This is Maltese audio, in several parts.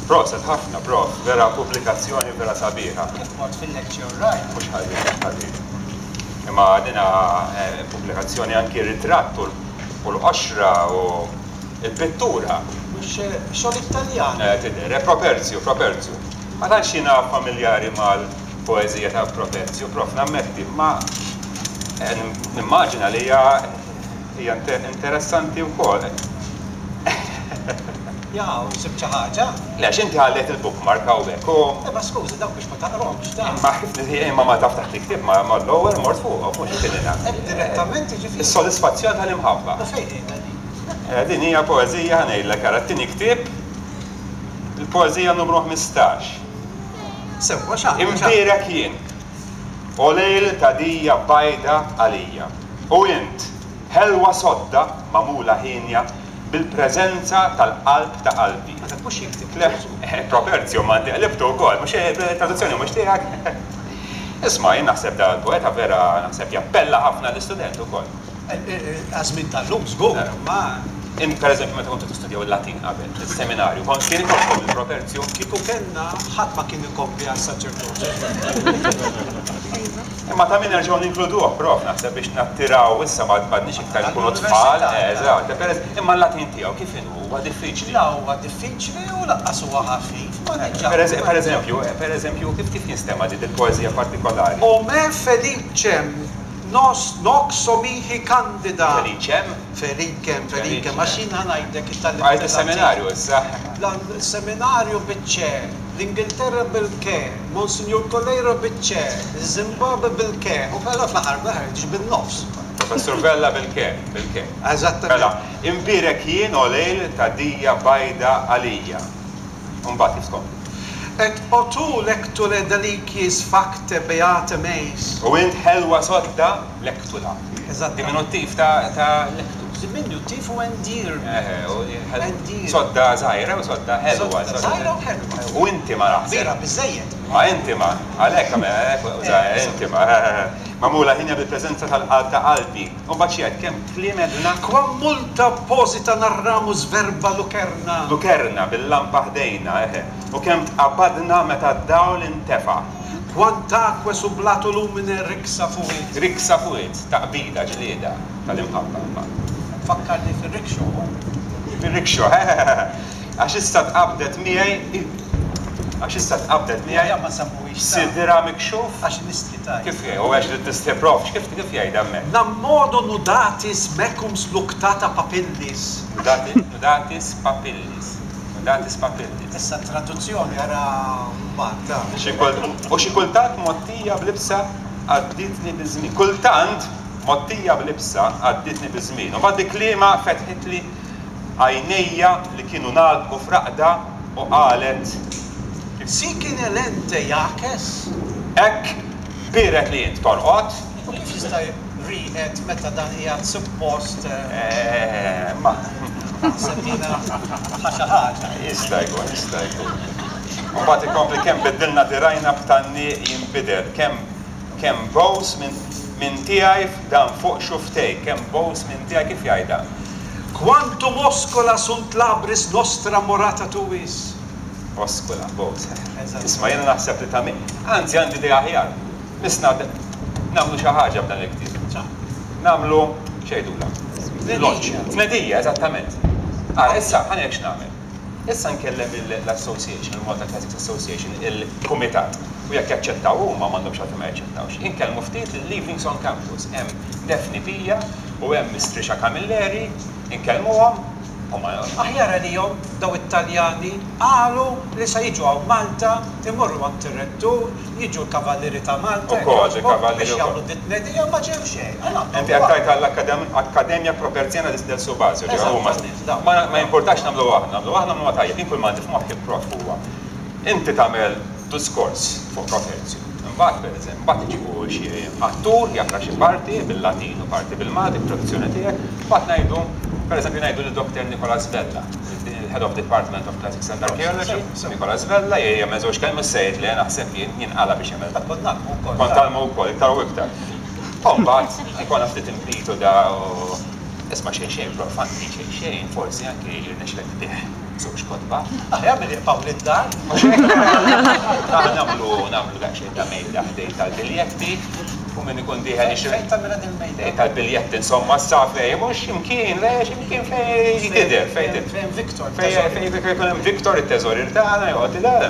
Proset ħafna, prof, vera pubblikazzjoni vera sabiħa. Kif mort fil-lecture rajt? Mhux ħażin, mhux ħażin. Imma dina pubblikazzjoni anki r-ritratt u l-qoxra u l-pittura. Mhux xogħol Italjan? Tidher, Properzio, Properzio. Ma tantx jiena familjari mal-poeżija ta' Properzio, prof, nammetti, imma nimmaġina li hija hija interessanti wkoll. Jaw, sibt xi ħaġa? Le, għax inti ħallejt il-bookmark hawnhekk u. Imma skużi, dawk biex ma taqrahomx ta. Imma imma ma taf taħt il-ktieb ma mal-ewwel mort fuqhom mhux kien ingħad. Hekk direttament jiġifieri. Is-sodisfazzjon tal-imħabba. U fejn qiegħda din? Din hija poeżija ħa ngħidlek ara t-tieni ktieb il-poeżija numru 15. Sewwa x'għandha? Imbierek jien, o lejl ta' dija bajda għalija. U int, ħelwa sodda magħmula hienja bil-preżenza tal-qalb ta' qalbi. Ma dak mhux jikteb. Le, Properzio ma inti qlibtu wkoll, mhux traduzzjoni mhux tiegħek. Isma' jien naħseb da l-poeta vera naħseb jappella ħafna l-istudent ukoll. Għaż-żmien tal-lum żgur, imma. Int pereżempju meta kontu tistudjaw il-Latin qabel, fis-seminarju, kont kien ikollkom il-Properzio? Kieku kellna, ħadd ma kien ikompli għas-saċerdozju. Imma ta' min nerġgħu ninkluduh, prof, naħseb biex nattiraw issa ma m'għadniex iktar nkunu tfal, eżatt, imma l-Latin tiegħu kif inhu? Huwa diffiċli? La huwa diffiċli u lanqas huwa ħafif, ma diġà. Pereżempju, pereżempju, kif kif jinstema' din il-poeżija partikolari? O me felicem nos noxo mihi candida. Felicem? Felicem, felicem, għax jien ħa ngħidlek it-tagħlim. Bqajt is-seminarju issa. Seminarju biċ-ċe, l-Ingilterra bil-ke, Monsinjur Coleiro biċ-ċe, iż-Zimbabwe bil-ke, u però fl-aħħar mill-aħħar tiġi bin-nofs. Professur Vella bil-ke, bil-ke. Eżattament. Mela, imbierek jien o lejl ta' dija bajda għalija. U mbagħad kif tkompli? Et o tu lectule deliciis facte beate meis. U int ħelwa sodda lectula. Eżattament. Diminuttiv ta' ta' lectus. Diminuttiv u endearment. Eħe, u ħel-. Sodda żgħira u sodda ħelwa. Sodda żgħira u ħelwa. U intima naħseb. Kbira biżżejjed. Ma intima, għalhekk żgħira intima. Magħmula ħinja bil-preżenza tal-qalb ta' qalbi. U mbagħad xi jgħid kemm kliem għedna. Quam multa apposita narramus verba lucerna. Lucerna, bil-lampa ħdejna, eħe. U kemm tqabadna meta d-dawl intefa'. Quantaque sublato lumine rixa fuit. Rixa fuit, taqbida, ġlieda, tal-imħabba mbagħad. Tfakkarni fir-rickshaw, hu? Fir-rickshaw, hehehehe. Għax issa tqabdet miegħi, għax issa tqabdet miegħi. Aħjar ma nsemmuhiex ta'. Sidra mikxuf. Għax nistħi tgħid. Kif jgħid? U għax trid tistħi prof, x'kif kif jgħid hemmhekk? Nam modo nudatis mecum sluctata papillis. Nudati, nudatis papillis. Nudatis papillis. Issa t-traduzzjoni ara mbagħad ta. Xi U xi kultant mgħottija b'libsa għaddietni biż-żmien. Kultant mgħottija b'libsa għaddietni biż-żmien. U mbagħad bi kliemha fetħitli għajnejja li kienu ngħalqu f'raqda u qalet. Sic in elente jaces? Hekk biered li int torqod. U kif jista' rieqed meta dan qiegħed suppost. Eh, ma. Naħseb jiena ħa xi ħaġa. Jista' jkun, jista' jkun. U mbagħad ikompli kemm biddilna dirgħajna b'tgħanniq jinbidel, kemm kemm bews minn minn tiegħi f'dan fuq xufftejk, kemm bews minn tiegħi kif jgħidha? Quantum oscula sunt labris nostra morata tuis. Oscula, bews. Isma' jiena naħseb li ta' min. Anzi għandi idea aħjar. Missna nagħmlu xi ħaġa b'dan il-ktieb. Nagħmlu, x'jgħidulha? Launch. Tnedija, eżattament. Ara, issa, ħa ngħidlek x'nagħmel. Issa nkellem l-Association, il-Malta Classics Association, il-kumitat, u jekk jaċċettaw huma, m'għandhomx għalfejn ma jaċċettawx, inkellmu ftit lil Evenings on Campus. Hemm Daphne Pia u hemm Miss Trisha Camilleri, inkellmuhom u ma. Aħjar għalihom dawn it-Taljani qalu li sa jiġu hawn Malta, imorru għand ir-Rettur, Jiġu l-Kavallieri ta' Malta, jekk jogħġbok, biex jagħmlu dit-tnedija ma ġew xejn. Għal għandhom Inti qed tgħid għall-Akkademja Properziana del Subasio, ġifieri huma. Ma jimpurtax nagħmluha aħna, nagħmluha aħna nagħmluha tajjeb. Jien kull ma għandi f'moħħi prof huwa inti tagħmel diskors fuq Properzio. Imbagħad pereżempju, imbagħad iġibu xi attur jaqra xi parti bil-Latin u parti bil-Malti bit-traduzzjoni tiegħek, imbagħad ngħidu, pereżempju ngħidu lil Doctor Nicolas Vella, il-Head of Department of Classics and Archaeology, Nicolas Vella, jagħmel żewġ kelmiet mhux se jgħid le, naħseb jien, jinqala' biex jagħmel dan. Kont ngħallmu wkoll. Kont tgħallmu wkoll, iktar u iktar. U mbagħad ikollna ftit inbitu da u isma' xejn xejn prof, anki xejn xejn forsi anki jirnexxilek tbigħ. Żewġ kotba. Aħjar milli jibqgħu lid-dar. Mhux hekk? Aħna nagħmlu nagħmlu daqsxejn ta' mejda ħdejn tal-biljetti u min ikun dieħel jixtri. Fejn tagħmilha din il-mejda? Ħdejn tal-biljetti insomma sa fejn mhux x'imkien, le x'imkien fejn tidher, fejn tidher. Fejn Victor. Fejn fejn ikun hemm Victor it-teżorier tagħna joqgħod idar.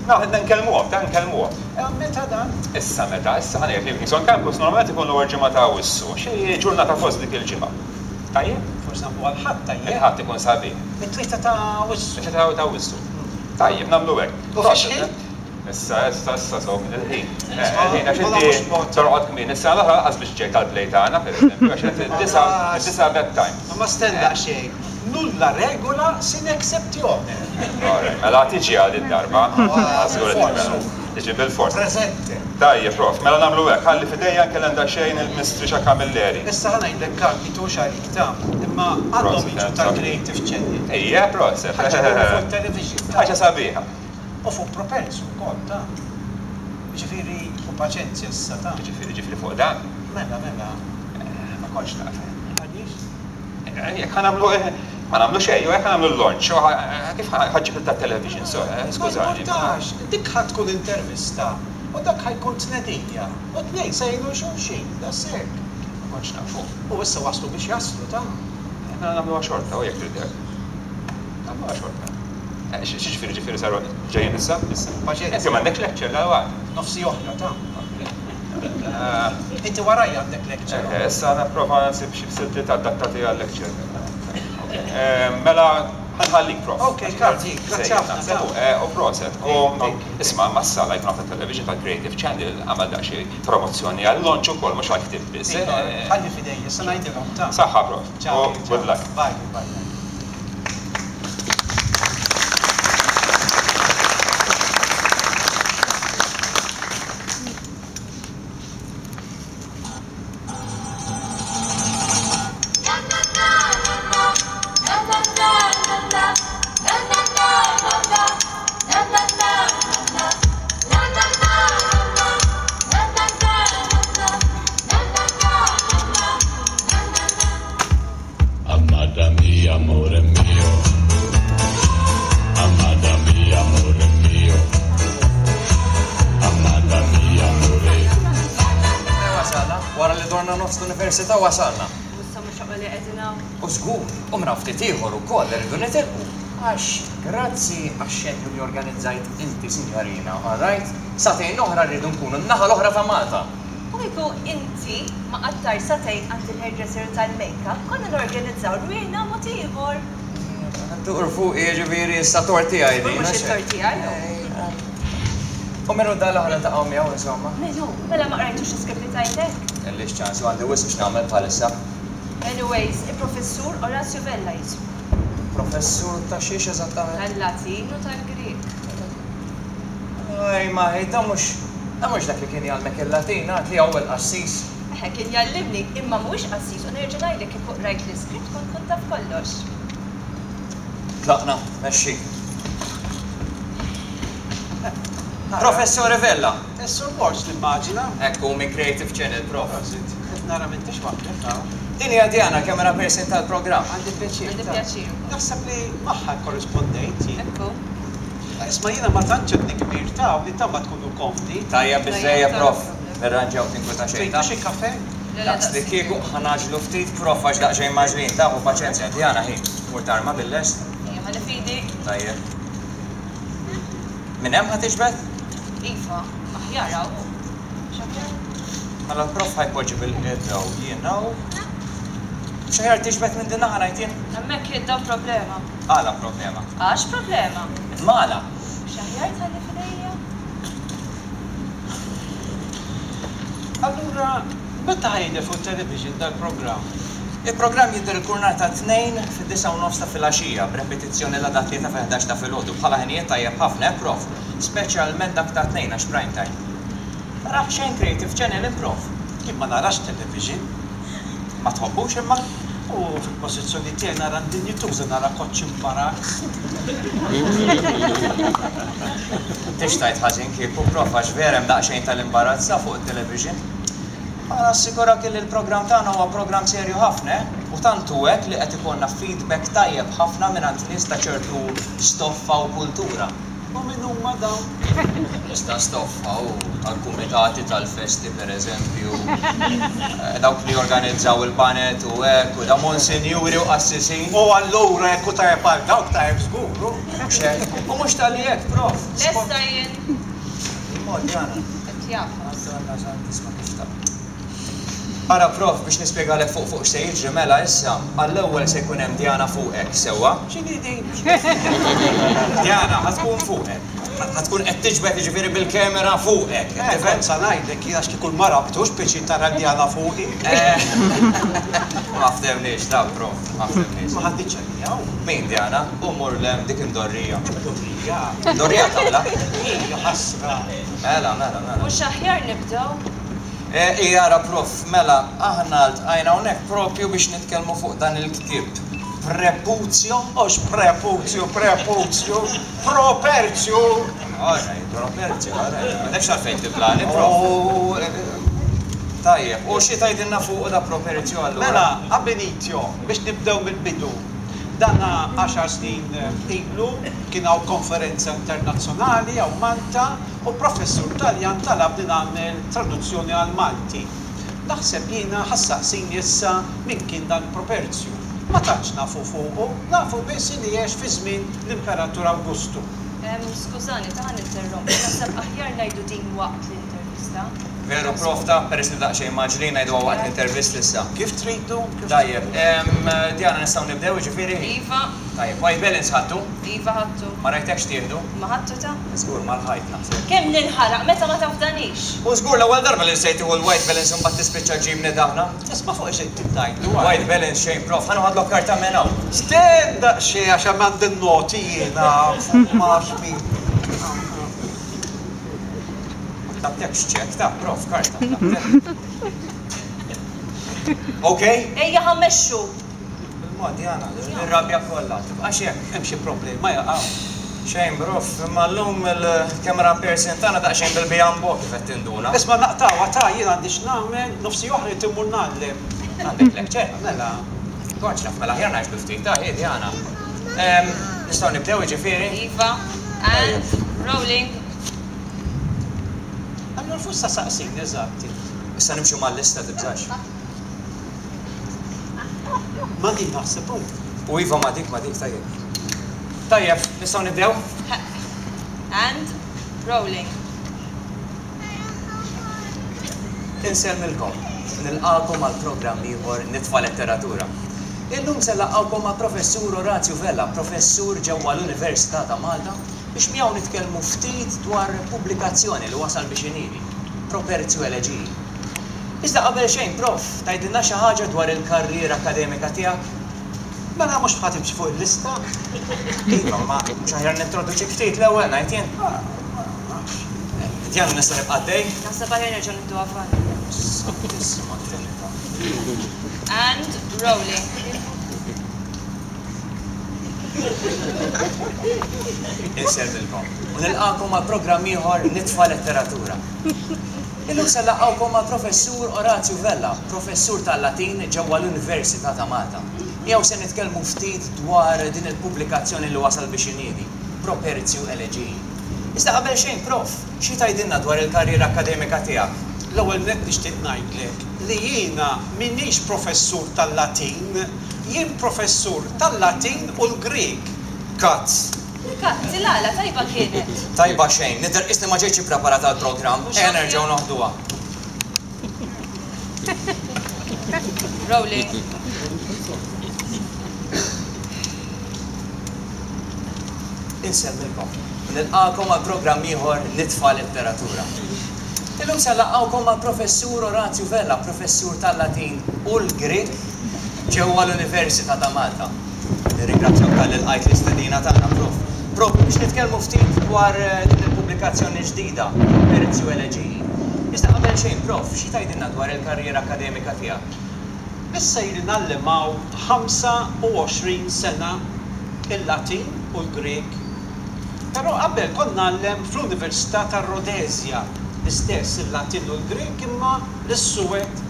Aħna nkellmuhom, ta' nkellmuhom. Meta dan? Issa meta, issa ħa ngħid li Kingston Campus normalment ikun l-ewwel ġimgħa ta' Awwissu, xi ġurnata fost dik il-ġimgħa. Tajjeb? Forsi nagħmluha l-Ħadd tajjeb? Il-Ħadd ikun sabiħ. It-Tlieta ta' Awwissu. It-Tlieta ta' Awwissu. Tajjeb, nagħmlu hekk. U fiex ħin? Issa, issa, issa, so, il-ħin. Il-ħin, għax inti torqod kmieni. Is-sena l-oħra lanqas biex ġejt għall-play tagħna, pereżempju, għax qed id-disgħa, id-disgħa bedtime. Ma stenna daqsxejn. Nulla regola sine exceptione. All right, mela tiġi għal id-darba. Żgur li tiġi. Tiġi bilfors. Preżente. Tajjeb, prof, mela nagħmlu hekk, ħalli f'idejja nkellem daqsxejn il-Mistrixa Camilleri. Issa ħa ngħidlek Karl, mitux għalik ta, imma għandhom jiġu tal-Creative Channel. Ejja, proset. Ħa ġibuhom fuq it-television. Ħaġa sabiħa. U fuq Propels ukoll ta. Jiġifieri, u paċenzja issa ta. Jiġifieri, jiġifieri fuq dan? Mela, mela. Ma kontx naf. Għaliex? Jekk ħa nagħmlu, ma nagħmlu xejn, jew jekk ħa nagħmlu l-launch, kif ħa ġġib tat-television, skużani. Ma jimpurtax, dik ħa tkun intervista u dak ħa jkun tnedija u t-tnejn se jgħinu 'l xulxin, daqshekk. Ma kontx nafu. U issa waslu biex jaslu, ta. Mela nagħmluha xorta, u jekk trid hekk. Nagħmluha xorta. X'jiġifieri ġifieri saru ġejjin issa? Issa. Paċenzja. Inti m'għandekx lecture dalwaqt? Nofsi oħra, ta. Inti warajja għandek lecture. Eh, issa nipprova nsib xi siltiet adattati għal lecture. Mela ħanħallik prof. Ok, Karl, grazzi ħafna. U proset. U isma' mas-sala jkun ta' television tal-Creative Channel għamel daqsxejn promozzjoni għal-launch ukoll mhux għall-ktieb biss. Ħalli f'idejja, issa ngħidilhom ta. Saħħa prof. Ciao. Good luck. Bye, bye. Amada mia, amore mio. Amada mia, amore mio. Amada mia, amore. Wasalna, wara li dorna nofs l-università wasalna. U issa mhux aqwa li qegħdin hawn. U żgur, u minn hawn ftit ieħor ukoll irridu nitilqu. Għax grazzi għax-xenju li organizzajt inti, sinjorina, all right? Sagħtejn oħra rridu nkunu n-naħa l-oħra ta' Malta. U kieku inti ma qattajtx sagħtejn għand il-hairdresser u tal-makeup, konna norganizzaw rwieħna mod ieħor. Dur fuqi, jiġifieri issa tort tiegħi din. Żgur mhux it-tort tiegħi, hu. U min hu dan li ħa niltaqgħu miegħu insomma? Min hu? Mela ma qrajtux l-iskript li tajtek? Kellix ċans u għandi wisq x'nagħmel bħalissa. Anyways, il-Professur Orazio Vella jismu. Professur ta' xiex eżattament? Tal-Latin u tal-Grieg. Ej, ma hi, dan mhux, dan mhux dak li kien jgħallmek il-Latin, għad li hawn il-qassis. Eħe, kien jgħallimni, imma mhuwiex qassis u nerġa' ngħidlek kieku qrajt l-iskript kont tkun taf kollox. Tlaqna, mexxi. Professore Vella! Is-Sur Borg nimmaġina. Hekk hu minn Creative Channel, Prof. Prosit. Qed nara m'intix waħdek hawn. Din hija Diana, camera person tal-programm. Għandi pjaċir. Għandi pjaċir ukoll. Naħseb li magħha kkorrispondejt jien. Hekk hu. Isma' jiena ma tantx għadni kbir ta' u nittama tkunu komdi. Tajjeb biżżejjed, Prof. Nirranġaw tinkweta xejn, ta'. Tridu xi kafè? Le, le, Daqs li kieku ħa ngħaġġlu ftit, Prof, għax daqsxejn mgħaġġlin, ta' ħu paċenzja. Diana, hi, tmur tarma bil-lest? Ejja, ħalli f'idi. Tajjeb. Minn hemm ħa tiġbed? Iva, aħjar hawn hu. Mhux aħjar? Mela l-prof ħa jpoġġi bil-qiegħda u jien hawn. Mhux aħjar tiġbed minn din naħa ngħid jien? Hemmhekk qiegħda problema. Għala problema? Għax problema. Imma għala? Mhux aħjar tħalli f'idejja? Allura, meta ħa jidher fuq it-television dal-programm? Il-programm jidher il-kull nhar ta' Tnejn fid-disgħa u nofs ta' filgħaxija, b'repetizzjoni l-għada t-Tlieta fil-ħdax ta' filgħodu. Bħala ħinijiet tajjeb ħafna, eh Prof? Speċjalment dak tat-Tnejn għax prime time. Tarax xejn Creative Channel int Prof? Jien ma narax television. Ma tħobbux imma? U fil-pożizzjoni tiegħi nara ndinjituża nara koċċ imbarazz. M'intix tgħid ħażin kieku, Prof, għax vera hemm daqsxejn tal-imbarazz sa fuq it-television. Imma nassigurak illi l-programm tagħna huwa programm serju ħafna, eh? U tant hu hekk li qed ikollna feedback tajjeb ħafna mingħand nies ta' ċertu stoffa u kultura. U min huma dawn? Nies ta' stoffa u tal-kumitati tal-festi pereżempju, dawk li jorganizzaw il-baned u hekk, u dawn monsinjuri u qassisin. U allura jekk hu tajjeb għal dawk tajjeb żgur, hu? Mhux hekk? U mhux talli hekk, Prof. Lesta jien. Il-mod, Jana. Qed jagħfas. Madonna Santissima kif ta'. Ara prof, biex nispjegalek fuq fuq x'se jiġri, mela issa, għall-ewwel se jkun hemm Diana fuqek, sewwa? X'inhi din? Diana, ħa tkun fuqek. Ħa tkun qed tiġbed jiġifieri bil-camera fuqek, qed Eh, tifhem? kont sa ngħidlek jien għax kieku l-mara btux pjaċir tara Diana fuqi. Eh, ma ftehmniex, ta' prof, ma ftehmniex. Ma ħaditx għalija, hu. Min Diana? U mur 'l hemm dik imdorrija. Imdorrija? Imdorrija taqla'. Hi, ħasra. Mela, mela, mela. Mhux aħjar nibdew? Ii ara prof, mela aħna ltqajna hawnhekk propju biex nitkellmu fuq dan il-ktieb. Prepuzio? Mhux prepuzju, prepuzju, properzju! All right, properzju, all right. M'għandekx għalfejn tiblani, prof. U tajjeb, u xi tgħidilna fuqu da properzju allura? Mela, ab initio, biex nibdew mill-bidu. Dana għaxar snin ilu kien hawn konferenza internazzjonali hawn Malta u professur Taljan talabni nagħmel traduzzjoni għall-Malti. Naħseb jiena ħa ssaqsini issa min kien dan Properzju. Ma tantx nafu fuqu, nafu biss li għex fi żmien l-Imperatur Awgustu. Skużani, ta' ħa ninterrompi, naħseb aħjar ngħidu din waqt l-intervista. Veru prof ta' peress li daqsxejn mgħaġġlin ngħiduha waqt l-intervista issa. Kif tridu, kif Tajjeb, Diana nistgħu nibdew jiġifieri? Iva. Tajjeb, white balance ħadtu? Iva ħadtu. Ma rajtekx tieħdu? Ma ħadtu ta? Żgur mal-ħajt naħseb. Kemm ninħaraq meta ma tafdanix! U żgur l-ewwel darba li nsejt tieħu l-white balance u mbagħad tispiċċa ġġibni daħna. Isma' fuq xejn trid tgħidlu għal. White balance xejn prof, ħa noħodlok karta minn hawn. Stenn daqsxejn għax hemm għandi n-noti jiena fuq ma nafx min. Ma tlabtekx ċekk ta' prof, karta tlabtek. Ok? Ejja ħa mmexxu! Bil-mod, Diana, ir-rabja kollha. Tibqax hekk. Hemm xi problema jaqaw? Xejn, prof, imma llum il-camera person tagħna daqsxejn bil-bijambo kif qed tinduna. Isma' naqtgħuha ta' jien għandi x'nagħmel, nofsi oħra rrid immur ngħallem. Għandek lecture? Mela. Kontx naf, mela aħjar ngħaġġlu ftit, ta' hi Diana. Nistgħu nibdew jiġifieri? Iva, and rolling. Allura fuq sa saqsini eżatt int? Issa nimxu mal-lista tibżax. Ma' din naħseb hu. U iva ma' dik, ma' dik, tajjeb. Tajjeb, nistgħu nibdew? And rolling. Insellmilkom u nilqagħkom għal programm ieħor Nitfa' Letteratura. Illum se nlaqqgħukom ma' Professur Orazio Vella, professur ġewwa l-Università ta' Malta, biex miegħu nitkellmu ftit dwar pubblikazzjoni li wasal biex iniedi, Properzio Elegii. Iżda qabel xejn, Prof, tgħidilna xi ħaġa dwar il-karriera akkademika tiegħek? Mela mhux ħa timxi fuq il-lista? Iva, imma mhux aħjar nintroduċik ftit l-ewwel, ngħid jien? Ma nafx. Diana nista' nibqa' għaddej? Naħseb aħjar nerġgħu nibdew avanti. Santissima Trinità. And rolling. Insellmilkom u nilqagħkom għal programm ieħor Nitfa' Letteratura. Illum se nlaqqgħukom mal-Professur Orazju Vella, Professur tal-Latin ġewwa l-Università ta' Malta. Miegħu se nitkellmu ftit dwar din il-pubblikazzjoni li wasal biex iniedi, Properzio Elegii. Iżda qabel xejn, Prof, xi tgħidilna dwar il-karriera akkademika tiegħek? L-ewwel nett nixtieq ngħidlek li jiena m'iniex professur tal-Latin, jien professur tal-Latin u l-Grieg. Kazz! Kazz, il-għala tajba kienet. Tajba xejn, nidher qisni ma ġejtx ippreparat għall-programm. Ejja nerġgħu noħduha. Rolling. Insellmilkom u nilqagħkom għal programm ieħor Nitfa' Letteratura. Illum se nlaqqgħukom mal-Professur Orazju Vella, professur tal-Latin u l-Grieg ġewwa l-Università ta' Malta. Nirringrazzjak talli lqajt l-istedina tagħna, Prof. Proprju biex nitkellmu ftit dwar din il-pubblikazzjoni ġdida, Properzio Elegii. Iżda qabel xejn, Prof, xi tgħidilna dwar il-karriera akkademika tiegħek? Issa ili ngħallem hawn 25 sena il-Latin u l-Grieg. Però qabel kont ngħallem fl-Università tar-Rhodesia, l-istess il-Latin u l-Grieg imma lis-suwed.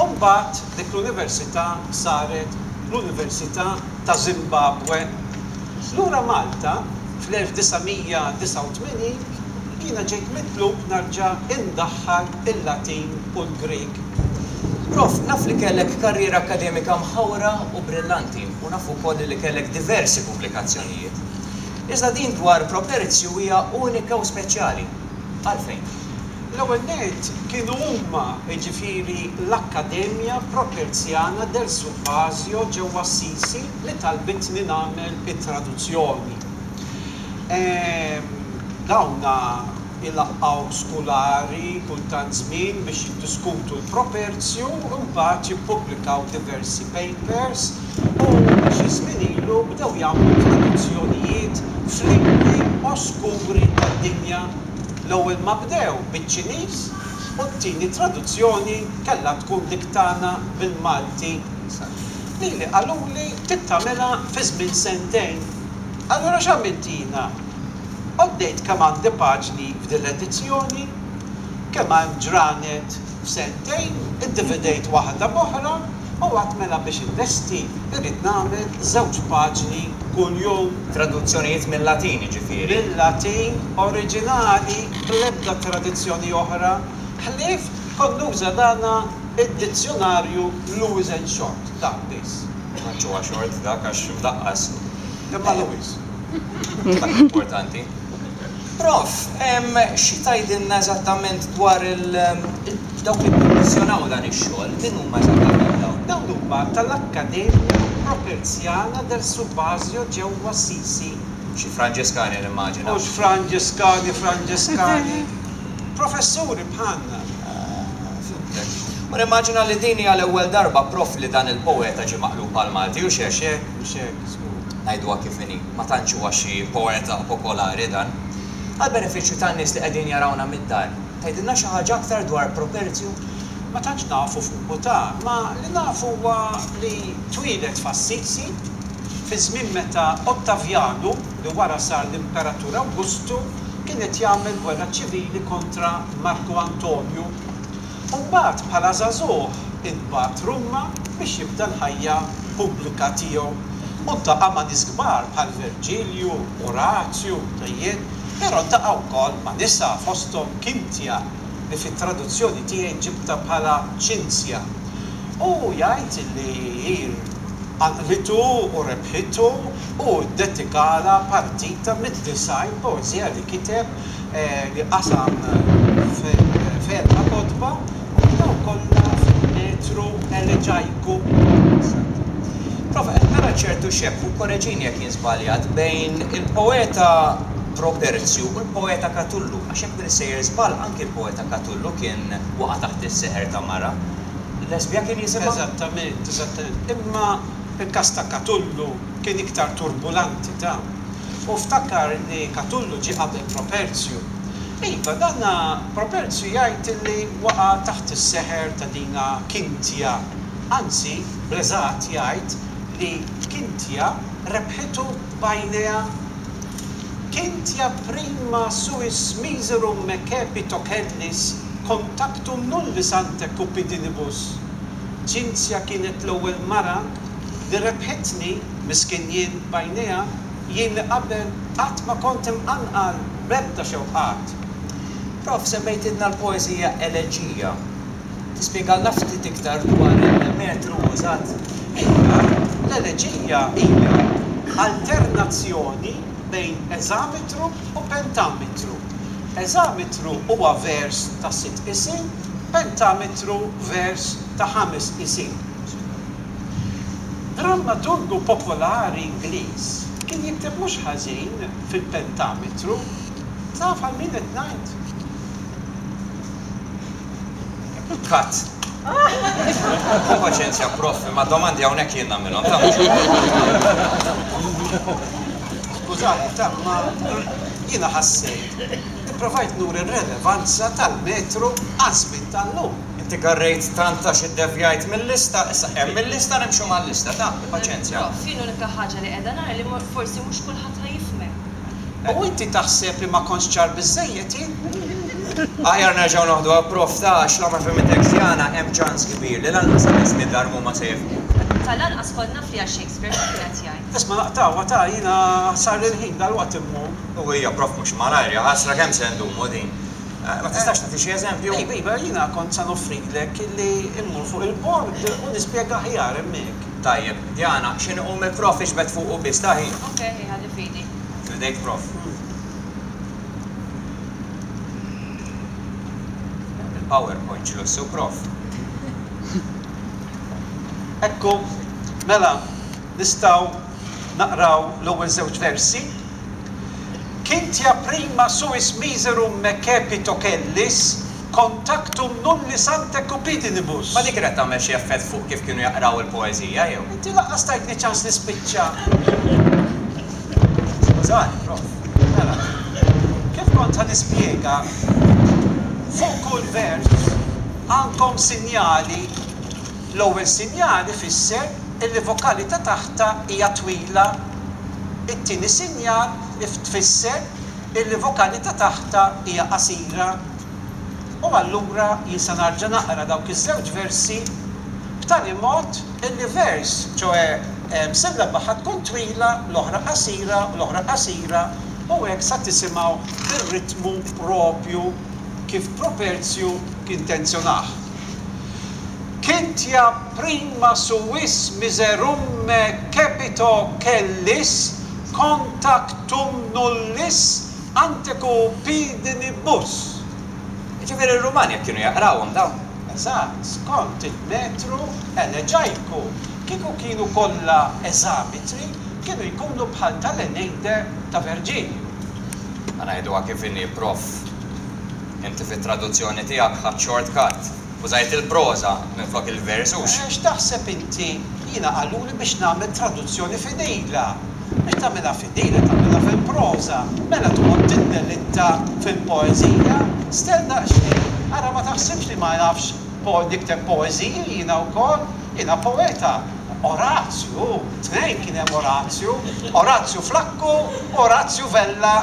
U mbagħad dik l-università saret l-Università ta' Zimbabwe. Lura Malta, fl-1989, jiena ġejt mitlub narġa' indaħħal il-Latin u l-Grieg. Prof, naf li kellek karriera akkademika mħawra u brillanti u naf ukoll li kellek diversi pubblikazzjonijiet. Iżda din dwar Properzju hija unika u speċjali. Għalfejn? L-ewwel nett kienu huma, jiġifieri l-Accademia Properzjana del Subasio ġewwa Assisi li talbitni nagħmel it-traduzzjoni. Dawn ilaqqgħu skulari kull tant żmien biex jiddiskutu l-Properzju u mbagħad jippubblikaw diversi papers u xi żmien ilu bdew jagħmlu traduzzjonijiet f'lingwi oskuri tad-dinja. L-ewwel ma bdew biċ-Ċiniż u t-tieni traduzzjoni kellha tkun dik tagħna bil-Malti. Lili qaluli trid tagħmilha fi żmien sentejn. Allura x'għamilt jiena? Għoddejt kemm għandi paġni f'din l-edizzjoni, kemm hemm ġranet f'sentejn, iddividejt waħda b'oħra u għedt mela biex inlesti rrid nagħmel żewġ paġni kuljum. Traduzzjonijiet mil-Latin jiġifieri? Mil-Latin oriġinali, bl-ebda tradizzjoni oħra, ħlief kont nuża dana id-dizzjunarju Lewis and Short, dak biss. Ma tantx huwa short dak għax mdaqqas. Imma Lewis. Dak l-importanti. Prof, xi tgħidilna eżattament dwar il dawk li kkummissjonaw dan ix-xogħol? Min huma eżattament dawn? Dawn huma tal-Accademia Properzjana del Subasio ġewwa Assisi. Xi Franġiskani nimmaġina. Mhux Franġiskani, Franġiskani. Professuri bħalna. Ah, fhimtek. U nimmaġina li din hija l-ewwel darba, Prof, li dan il-poeta ġie maqlub għall-Malti, hux hekk? Hux hekk, hux hekk, żgur. Ngħiduha kif inhi, ma tantx huwa xi poeta popolari dan. Għall-benefiċċju tan-nies li qegħdin jarawna mid-dar, tgħidilna xi ħaġa aktar dwar Properzju? Ma tantx nafu fuqu ta, ma li nafu huwa li twieled f'Assisi, fi żmien meta Ottavjanu, li wara sar l-Imperatur Awgustu, kien qed jagħmel gwerra ċivili kontra Marku Antonju. U mbagħad bħala żagħżugħ intbagħat Ruma biex jibda l-ħajja pubblika tiegħu. U ltaqa' ma' nies kbar bħal Verġilju, Orazju, Tejjed, però ltaqa' wkoll ma' nisa fosthom Kintia li fit-traduzzjoni tiegħi ġibtha bħala Ċinzja. U jgħid li hi qanqlitu u rebħitu u ddedikalha partita mid-90 poeżija li kiteb li qasam f'erba' kotba u dawn kollha fil-metru eleġajku. Prof, qed nara ċertu xebh, u kkoreġini jekk jien żbaljat, bejn il-poeta Properzju u l-poeta Katullu, għax jekk m'iniex sejjer żball anki l-poeta Katullu kien waqa' taħt is-seħer ta' mara. Lesbja kien jisimha? Eżattament, eżattament. Imma il-każ ta' Katullu kien iktar turbulanti ta'. U ftakar li Katullu ġie qabel Properzju. Iva, dan Properzju jgħid li waqa' taħt is-seħer ta' dina Kintia. Anzi, bl-eżatt jgħid li Kintia rebħitu b'għajnejha. Kintia prima suis miserum me cepit ocellis contactum nullis ante cupidinibus. Ċinzja kienet l-ewwel mara li rebħitni, miskin jien, b'għajnejha, jien li qabel qatt ma kont imqanqal b'ebda xewqat. Prof, semmejtilna l-poeżija Eleġija. Tispjegalna ftit iktar dwar il-metru użat? Iva, l-eleġija hija alternazzjoni bejn eżametru u pentametru. Eżametru huwa vers ta' sitt qisien, pentametru vers ta' ħames qisien. Drammaturgu popolari Ingliż kien jikteb mhux ħażin fil-pentametru. Taf għal min qed ngħid? Cut. Ħu paċenzja prof, imma domandi hawnhekk jien nagħmilhom, ta' mhux Skużani, ta' ma jiena ħassejt li provajt nuri r-relevanza tal-metru għaż-żmien tal-lum. Inti garrejt tant għax iddevjajt mil-lista, issa hemm il-lista nimxu mal-lista, ta, paċenzja. Prof, jien l-unika ħaġa li qiegħda nara li forsi mhux kulħadd ħa jifhmek. U inti taħseb li ma kontx ċar biżżejjed jien? Aħjar nerġgħu noħduha prof ta' għax la ma fehmitekx Diana hemm ċans kbir li lanqas in-nies li ddarmu ma se jifhmuk. Tal-anqas kont naf li għal Shakespeare x'kien qed jgħid. Isma' naqtgħuha ta' jiena sarli l-ħin dalwaqt immur. U hija prof mhux malajr, jaħasra kemm se ndumu din. Ma tistax tagħti xi eżempju? Iva, iva, jiena kont sa noffrilek li mmur fuq il-bord u nispjega aħjar hemmhekk. Tajjeb. Diana, x'inhu iqum il-prof iġbed fuqu biss, ta' ħi? Ok, ħi, ħalli f'idi. F'idejk prof. Il-PowerPoint x'lussu prof. Ekku, mela, nistgħu naqraw l-ewwel żewġ versi. Cintia prima suis miserum me cepito cellis, contactum nullis ante cupidinibus. Ma dik kienet tagħmel xi effett fuq kif kienu jaqraw il-poeżija, jew? Inti lanqas tajtni ċans nispiċċa. Skużani, prof. Mela, kif kont ħa nispjega, fuq kull vers għandkom sinjali. L-ewwel sinjal ifisser illi vokali ta' taħtha hija twila. It-tieni sinjal tfisser illi vokali ta' taħtha hija qasira. U allura jien se narġa' naqra dawk iż-żewġ versi b'tali mod illi vers, ċoe sillaba ħa tkun twila, l-oħra qasira, u l-oħra qasira, u hekk sa tisimgħu bir-ritmu proprju kif Properzju kien tenzjonah. Cintia prima suis miserumme cepito cellis contactum nullis ante cupidinibus. Jiġifieri r-Rumani hekk kienu jaqrawhom dawn? Eżatt, skont il-metru eleġajku. Kieku kienu kollha eżametri, kienu jkunu bħal tal-Eneide ta' Verġilju. Ħa ngħiduha kif inhi, prof. Inti fit-traduzzjoni tiegħek ħadt short cut. Użajt il-proża minflok il-vers, hux? X'taħseb inti? Jiena qaluli biex nagħmel traduzzjoni fidila. Biex tagħmilha fidila tagħmilha fil-proża. Mela toqgħod tiddelitta fil-poeżija? Stell daqsxejn. Ara ma taħsibx li ma nafx nikteb poeżiji jiena wkoll. Jiena poeta. Orazju, tnejn kien hemm Orazju. Orazju Flakku u Orazju Vella.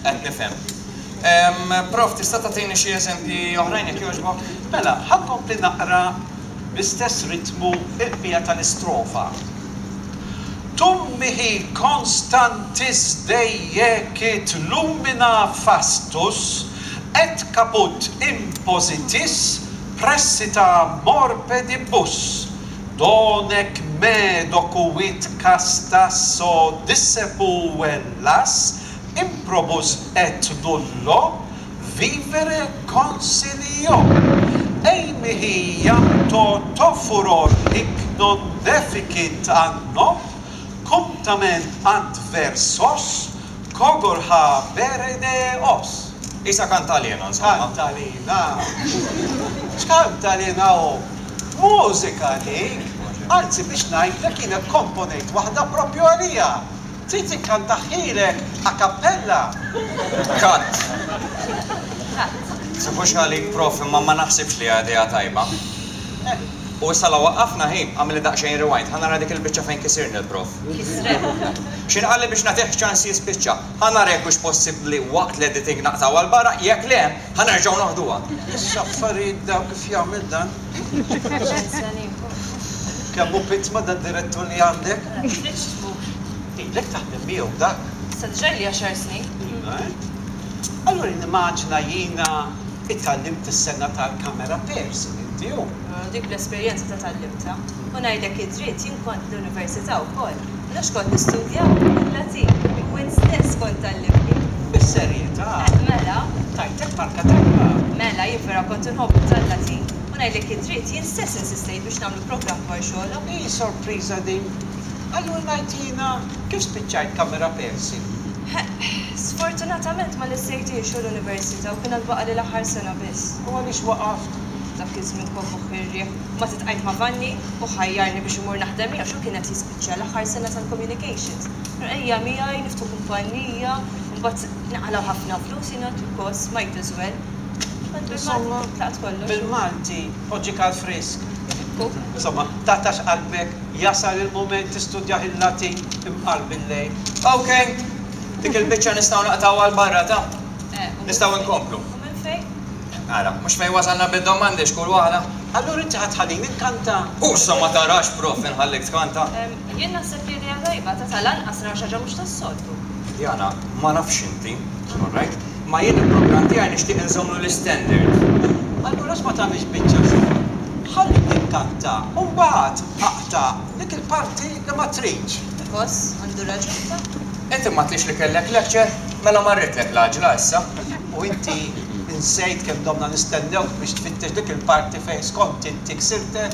Qed nifhem. Prof, tista' tagħtini xi eżempji oħrajn jekk jogħġbok? Mela, ħa nkompli naqra bl-istess ritmu l-bqija tal-istrofa. Tum mihi constantis deiecit lumina fastus et caput impositis pressita morpedibus, donec me docuit castas o dissepuellas improbus et nullo vivere consilio. Ei mihi iam toto furor hic non deficit anno, cum tamen adversos cogor habere deos. Isa kantalena, insomma. Kantalena. X'kantalena hu? Mużika dik. Anzi biex ngħidlek jiena kkomponejt waħda proprju għalija. Trid inkantahielek a cappella? Cut! Tieħux għalik prof imma ma naħsibx li hija idea tajba. U issa la waqqafna hi, agħmilli daqsxejn rewind, ħa nara dik il-biċċa fejn kisirni l-prof. Kisrek. X'in qalli biex nagħtih ċans jispiċċa. Ħa nara jekk hux possibbli waqt l-editing naqtgħu għal barra, jekk le, ħa nerġgħu noħduha. X'affarijiet dawn kif jagħmel dan? Paċenzja nieħu. Kemm hu pittma dad-direttur li għandek? Tridx tmur. Ilek taħdem miegħu dak? Issa diġà ili għaxar snin. Iva, eh? Allura nimmaġina jiena itgħallimt is-sengħa tal-camera person inti hu? Dik bl-esperjenza ta' tgħallimtha. U ngħidlek id-dritt, jien kont l-università wkoll. U nafx kont nistudja? Il-Latin. U int stess kont tgħallimni. Bis-serjetà? Eh, mela. Tajtek marka tajba. Mela, jien vera kont inħobbu tal-Latin. U ngħidlek id-dritt, jien stess insistejt biex nagħmlu programm dwar xogħolok. Hi sorpriża din. Allura ngħid jiena, kif spiċċajt camera person? Sfortunatament ma lestejthiex u l-università u kien għad baqagħli l-aħħar sena biss. U għaliex waqaft? Dak iż-żmien kont moħħi r-riħ. Mbagħad iltqajt ma' Vanni u ħajjarni biex immur naħdem miegħu għax hu kien qed jispiċċa l-aħħar sena tal-communications. Ejja miegħi niftħu kumpanija, mbagħad naqalgħu ħafna flus, jien għedt because might as well. Insomma, Tlaqt kollox. bil-Malti, poġġik għall-frisk. Ekku. Insomma, taqtax qalbek, jasal il-mument tistudjah il-Latin imqar bil-lejl. Ok, dik il-biċċa nistgħu naqtgħuha 'l barra ta'. Eh, u minn Nistgħu fejn? nkomplu. U minn fejn? Ara, mhux fejn wasalna bid-domandi x'kull waħda. Allura inti ħa tħallini nkanta? U issa ma tarax prof inħallik tkanta? Jien naħseb li idea tajba, ta' tal-anqas naraw xi ħaġa mhux tas-soltu. Diana, ma nafx inti, all right, ma jien il-programm tiegħi nixtieq inżommlu l-istandard. Allura għax ma tagħmilx biċċa xogħol? Ħallini nkanta u mbagħad aqta' dik il-parti li ma tridx. Boss, għandu raġun ta'. Inti m'għedtlix li kellek lecture? Mela marritlek l-għaġla issa. U inti nsejt kemm domna nistennewk biex tfittex dik il-parti fejn skont inti ksirtek?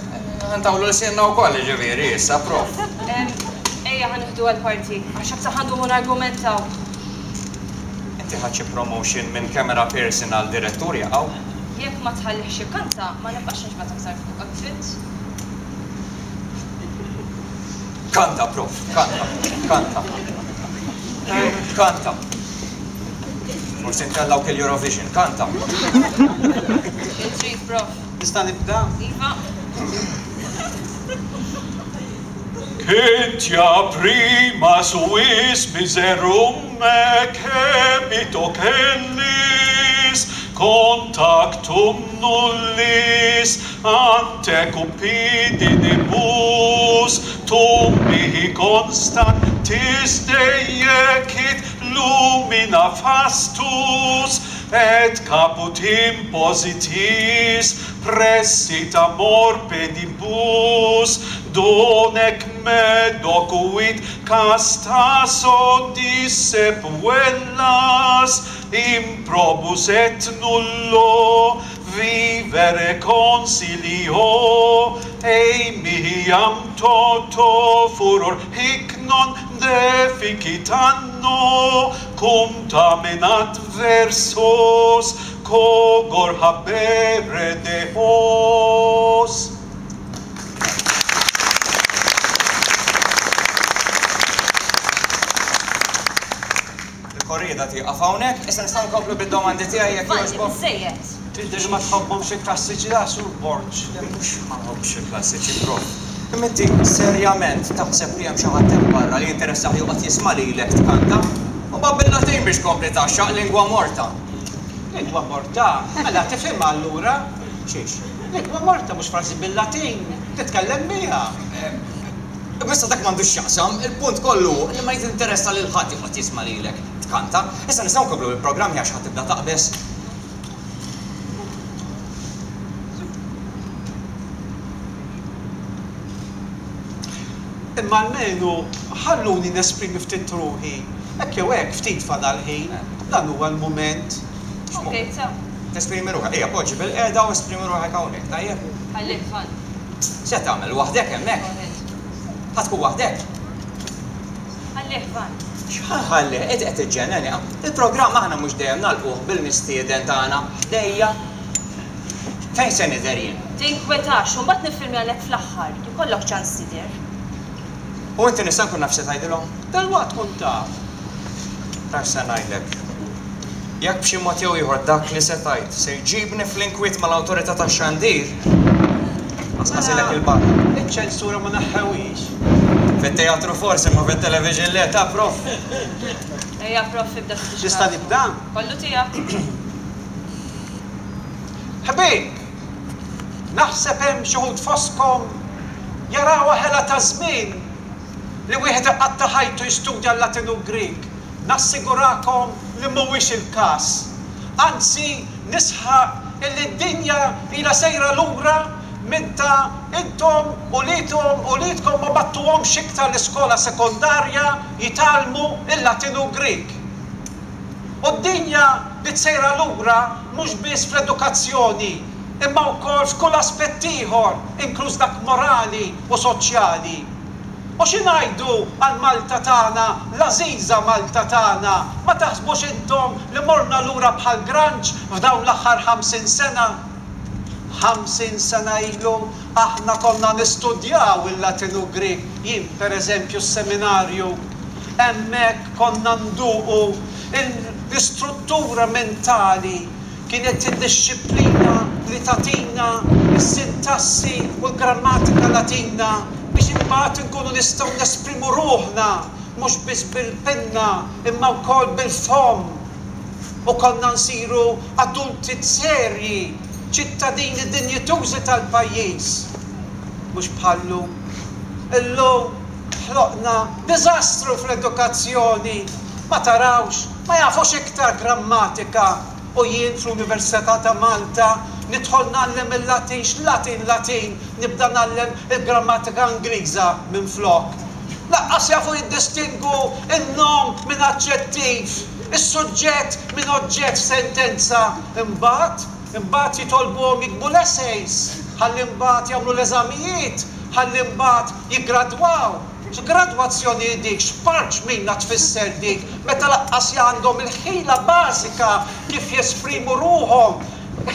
Ntawlu lsienna wkoll jiġifieri issa, prof. Ejja ħa nieħdu għall-parti, għax aktar ħa ndumu nargumentaw. Inti ħadt xi promotion minn camera person għal direttur jaqaw? Jekk ma tħallihx ikanta, ma nibqax nixbgħat aktar fuqek, fhimt? Kanta, prof, kanta, kanta. Kanta. Forsi ntellgħu il-Eurovision, kanta. Li trid, prof. Nista' nibda? Iva. Cynthia prima suis miserum cebit ocellis, contactum nullis ante cupidinibus, tum mihi constantis deiecit lumina fastus, et caput impositis pressit amor pedibus, donec me docuit castas odisse puellas, improbus et nullo vivere consilio, ei mihi iam toto furor hic non deficit anno, cum tamen adversos cogor habere deos. Il-korrieda tieqaf hawnhekk, issa nistgħu nkomplu bid-domandi tiegħi jekk Vanni, jogħġbok. biżżejjed. Tidher li ma tħobbhomx il-klassiċi la Sur Borg. Le mhux ma nħobbx il-klassiċi, prof. Imma inti serjament taħseb li hemm xi ħadd hemm barra li jinteressah joqgħod jisma' lilek tkanta? U ma bil-Latin biex tkompli tgħaxxaq lingwa morta. Lingwa morta? Mela tifhimha allura? Xiex? Lingwa morta mhux frażi bil-Latin, titkellem biha. Imma issa dak m'għandux x'jaqsam, il-punt kollu hu li ma jinteressa lil ħadd joqgħod jisma' lilek tkanta. Issa nistgħu nkomplu bil-programm għax ħa tibda taqbeż. Imma almenu ħalluni nesprimi ftit ruħi. Hekk jew hekk ftit fadal ħin. Dan huwa l-mument. Ok, ta. Tesprimi ruħek. Ejja, poġġi bilqiegħda u esprimi ruħek hawnhekk, tajjeb? Ħallik, Van. X'qed tagħmel? Waħdek hemmhekk? Go ahead. Ħa tkun waħdek? Ħallih, Van. X'ħa nħallih? Int qed tiġġenneni. Il-programm aħna mhux dejjem nagħlquh bil-mistieden tagħna ħdejja. Fejn se nidher jien? Tinkwetax, u mbagħad niffilmjalek fl-aħħar. Ikollok ċans tidher. U inti nista' nkun naf x'se tgħidilhom? Dalwaqt tkun taf. Taf x'se ngħidlek? Jekk b'xi mod jew ieħor dak li se tgħid se jġibni fl-inkwiet mal-Awtorità tax-Xandir, qasqasilek Mela, il-barra. iċ-ċensura ma neħħewhiex. Fit-teatru forsi, imma fit-television le, ta' prof. Ejja prof ibda ftit Nista' nibda? Kollu tiegħek. Ħbieb, naħseb hemm xi wħud fostkom jarawha ħela ta' żmien li wieħed iqatta' ħajtu jistudja l-Latin u l-Grieg. Nassigurakom li mhuwiex il-każ. Anzi, nisħaq illi d-dinja ilha sejra lura minn ta' intom uliedhom uliedkom ma bagħtuhomx iktar l-iskola sekondarja jitgħallmu l-Latin u l-Grieg. U d-dinja bdiet sejra lura mhux biss fl-edukazzjoni imma wkoll f'kull aspett ieħor inkluż dak morali u soċjali. U xi ngħidu għal Malta tagħna, l-għażiża Malta tagħna, ma taħsbux intom li morna lura bħal granċ f'dawn l-aħħar 50 sena? 50 sena ilu aħna konna nistudjaw il-Latin u Grieg, jien per eżempju s-seminarju. Hemmhekk konna nduqu l-istruttura mentali, kienet id-dixxiplina li tagħtina. Is-sintassi u l-grammatika Latina biex imbagħad inkunu nistgħu nesprimu ruħna mhux biss bil-pinna imma wkoll bil-fomm u konna nsiru adulti serji, ċittadini dinjitużi tal-pajjiż. Mhux bħal-lum. Illum ħloqna diżastru fl-edukazzjoni. Ma tarawx, ma jafux iktar grammatika u jien fl-Università ta' Malta nidħol ngħallem il-Latin, x'Latin Latin, nibda ngħallem il-grammatika Ingliża minflok. Lanqas jafu jiddistingwu n-nom minn aġġettiv, is-suġġett minn oġġett f'sentenza. Imbagħad, imbagħad jitolbuhom jiktbu l-essays, ħalli mbagħad jagħmlu l-eżamijiet, ħalli mbagħad jiggradwaw. X'gradwazzjoni hi dik, x'parċmina tfisser dik meta lanqas għandhom il-ħila bażika kif jesprimu ruħhom,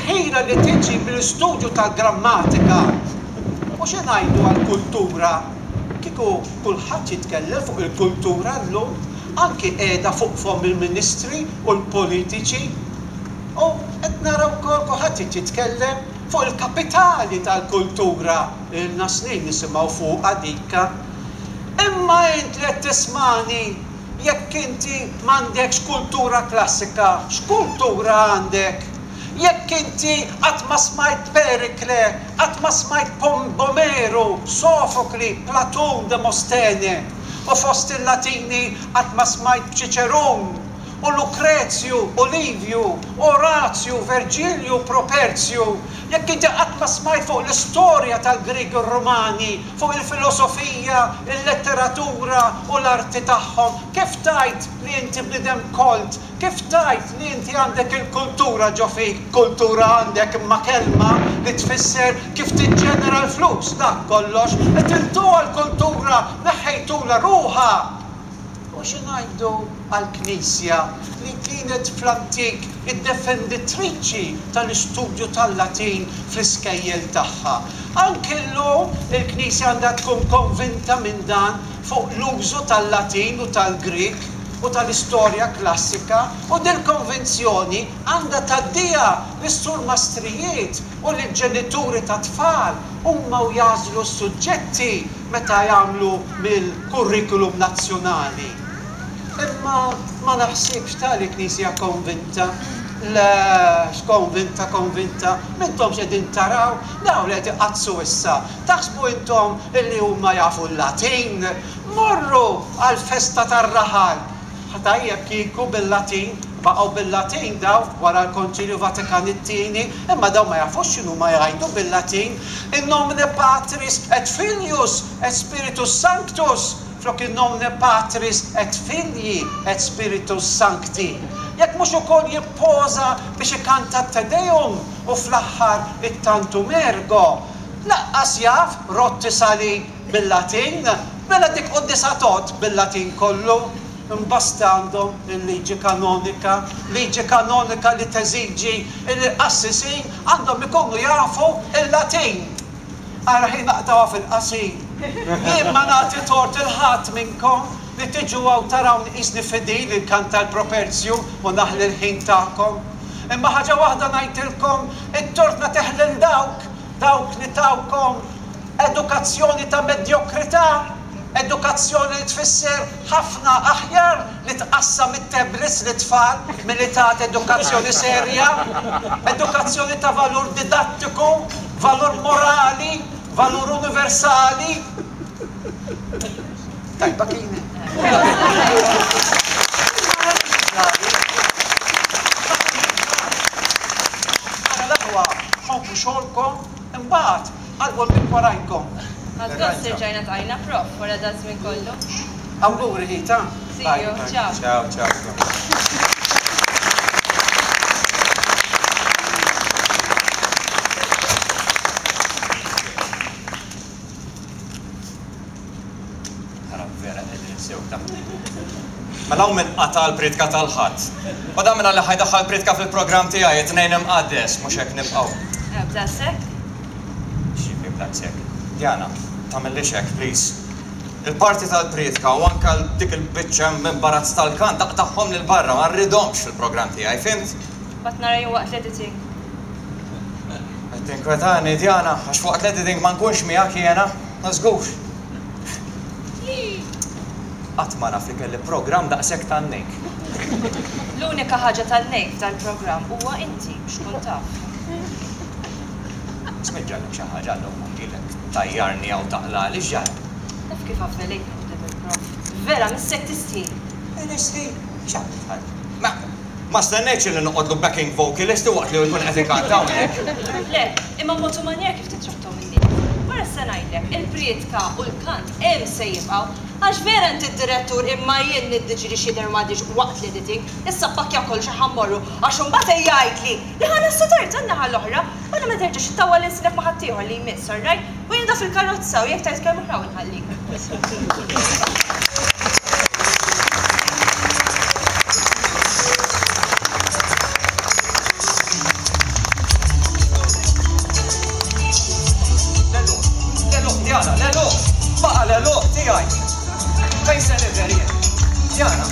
ħila li tiġi mill-istudju tal-grammatika. U xi ngħidu għall-kultura? Kieku kulħadd jitkellem fuq il-kultura llum, anki qiegħda fuq fomm il-ministri u l-politiċi. U qed nara wkoll kulħadd irid jitkellem fuq il-kapitali tal-kultura. Ilna snin nisimgħu fuqha dika. Imma int li qed tismagħni, jekk inti m'għandekx kultura klassika, x'kultura għandek? Jekk inti qatt ma smajt Perikle, qatt ma smajt Omeru, Sofokli, Platun, Demostene, u fost il-Latini qatt ma smajt b'Ċiċerun, u Lukrezju, u Livju, Orazju, Verġilju, Properzju, jekk inti qatt ma smajt fuq l-istorja tal-Griegi u r-Rumani, fuq il-filosofija, il-letteratura u l-arti tagħhom, kif tgħid li inti bniedem kolt? Kif tgħid li inti għandek il-kultura ġo fik? Kultura għandek imma kelma li tfisser kif tiġġenera l-flus, dak kollox. Qtiltuha l-kultura, neħħejtulha ruħha. U xi ngħidu għall-Knisja li kienet fl-antik id-defenditriċi tal-istudju tal-Latin fl-iskejjel tagħha? Anki llum il-Knisja għandha tkun konvinta minn dan fuq l-użu tal-Latin u tal-Grieg u tal-istorja klassika u dil-konvinzjoni għandha tgħaddiha lis-surmastrijiet u lill-ġenituri tat-tfal huma u jagħżlu s-suġġetti meta jagħmlu mill-kurrikulum nazzjonali. Imma ma naħsibx ta' li Knisja konvinta. Le, x'konvinta konvinta, m'intomx qegħdin taraw dawn li qed iqaddsu issa, taħsbu intom illi huma jafu l-Latin? Morru għall-festa tar-raħal! Tajjeb kieku bil-Latin, baqgħu bil-Latin dawn wara l-Konċilju Vatikan it-Tieni, imma dawn ma jafux x'inhuma jgħidu bil-Latin. In nomine Patris et Filius et Spiritus Sanctus flok in nomine Patris et Filii et Spiritus Sancti. Jekk mhux ukoll jippoża biex ikanta t-Te Deum u fl-aħħar it-Tantum Ergo, lanqas jaf rotti salib Bil-Latin? Mela dik quddiesa tgħodd bil-Latin kollu? Imbasta għandhom il-liġi kanonika, liġi kanonika li teżiġi li l-qassisin għandhom ikunu jafu l-Latin. Ara ħin naqtgħuha fil-qasir. Jien ma nagħti tort 'il ħadd minnkom li tiġu hawn tarawni qisni fidil inkanta l-properzju u naħli l-ħin tagħkom. Imma ħaġa waħda ngħidilkom, it-tort nagħtih lil dawk, dawk li tawkom Edukazzjoni ta' medjokrità, edukazzjoni li tfisser ħafna aħjar li tqassam it-tablets lit-tfal milli tagħti edukazzjoni serja, edukazzjoni ta' valur didattiku, valur morali, valur universali. Tajba kienet. Mela l-aħwa, ħobbu xogħolkom, imbagħad Għalqu l-bieb warajkom. Ħadt gost erġajna ltqajna prof wara daż-żmien kollu. Awguri ħita. See you. Ciao. Ciao, ciao. Ara vera qegħdin sew ta'. Mela hawn min qata' l-priedka tal-Ħadd. U dan minn li ħa jdaħħal priedka fil-programm tiegħi, it-Tnejn Imqaddes, mhux hekk nibqgħu. Eh, b'daqshekk? X'jiġifieri b'daqshekk? Diana, tagħmillix hekk, please. Il-parti tal-priedka u anke dik il-biċċa imbarazz tal-kant aqtagħhom 'l barra, ma rridhomx fil-programm tiegħi, fhimt? Mbagħad nara jien waqt l-editing. Tinkwetani, Diana, għax waqt l-editing ma nkunx miegħek jiena, ta' żgur. Qatt ma naf li kelli programm daqshekk tan-nejk. L-unika ħaġa tan-nejk f'dal-programm huwa inti, biex tkun taf. Isma' ġralek xi ħaġa llum, ilek tgħajjarni hawn taqlagħli, x'ġara? Taf kif avvelejtni quddiem il-prof. Vera, missek tistħi! Nistħi? X'għamilt ħadd? Ma ma stennejtx li noqgħodlu backing vocalist waqt li hu jkun qed ikanta hawnhekk. Le, imma mod u manjer kif tittrattahom in-nies. Wara se ngħidlek, il-prietka u l-kant hemm se jibqgħu. Għax vera inti d-direttur imma jien niddiġri x'jidher u ma jidhirx waqt l-editing. Issa ppakkja kollox ħa mmorru għax imbagħad ejja għidli li ħa naslu tard għan-naħa l-oħra. Mela ma terġax ittawwal ilsinek ma' ħaddieħor li jmiss, all right? U jien da fil-karozza u jekk tgħid kelma oħra hawn inħallik. L-għeluq, l-għeluq, Diana, l-għeluq! Baqa' l-għeluq tiegħi! Fejn se nidher jien? Diana!